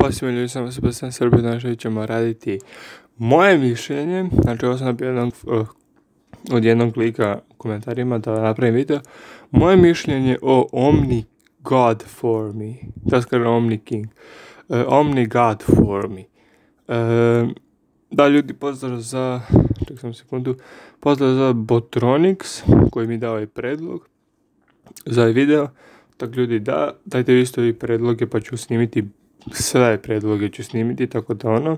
Ćao svima ljudi, sam Sebastian Srbije, znači ćemo raditi moje mišljenje, znači ovo sam napio od jednog lika u komentarima da napravim video, moje mišljenje o Omni God for me, da skoro Omni King, Omni God for me. Da ljudi, pozdrav za, ček sam sekundu, pozdrav za Botronics koji mi dao i predlog za ovaj video. Tako ljudi, da, dajte vi isto i predloge pa ću snimiti, sve predloge ću snimiti, tako da ono.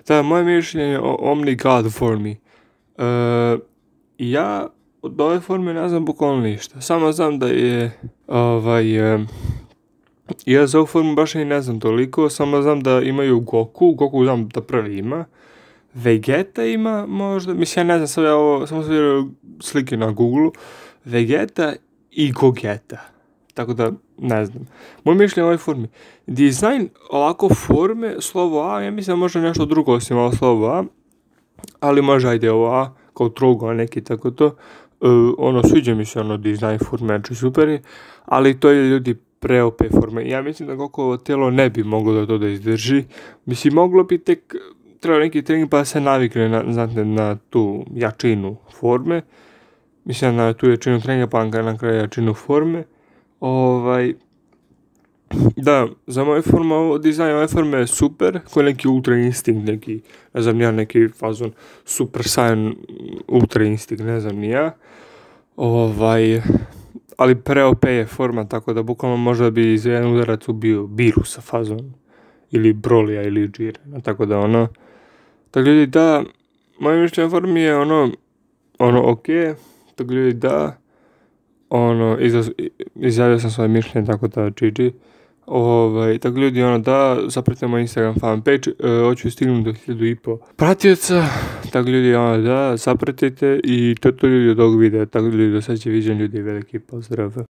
Da, moje mišljenje o Omni God for me. Ja od ove forme ne znam bukvalno ništa, samo znam da je, ja za ovu formu baš i ne znam toliko, samo znam da imaju Goku znam da prvi ima, Vegeta ima možda, mislim ja ne znam, sad ja ovo, samo sam vidio slike na Google, Vegeta i Gogeta. Tako da, ne znam. Moje mišljenje o ovoj formi. Dizajn ovako forme, slovo A, ja mislim da može nešto drugo osim ovo slovo A, ali može ajde ovo A, kao trogo neki, tako to. Sviđa mi se dizajn forme, znači super je, ali to je ljudi pre-OP forme. Ja mislim da Gokovo tijelo ne bi moglo da to da izdrži. Mislim, moglo bi tek, treba neki trening pa se navikne na tu jačinu forme. Mislim na tu jačinu treninga pa na kraju jačinu forme. Da, za moju formu, dizajn ove forme je super, koji neki ultra instinkt, neki, ne znam ja, neki fazon super saiyan ultra instinkt, ne znam ni ja. Ali pre-OP je forma, tako da bukvalno možda bi za jedan udarac ubio Birusa fazon, ili Brolija, ili Jirena, tako da ono. Tako ljudi, da, moje mišljenje o formi je ok, tako ljudi, da. Izjavio sam svoje mišljenje, tako da GG. Tako ljudi, da, zapratite moj Instagram fanpage, hoću stignuti do 1500 pratioca, tako ljudi, da, zapratite i to ljudi od ovog videa, tako ljudi, do sljedećeg viđenja ljudi, veliki pozdrav.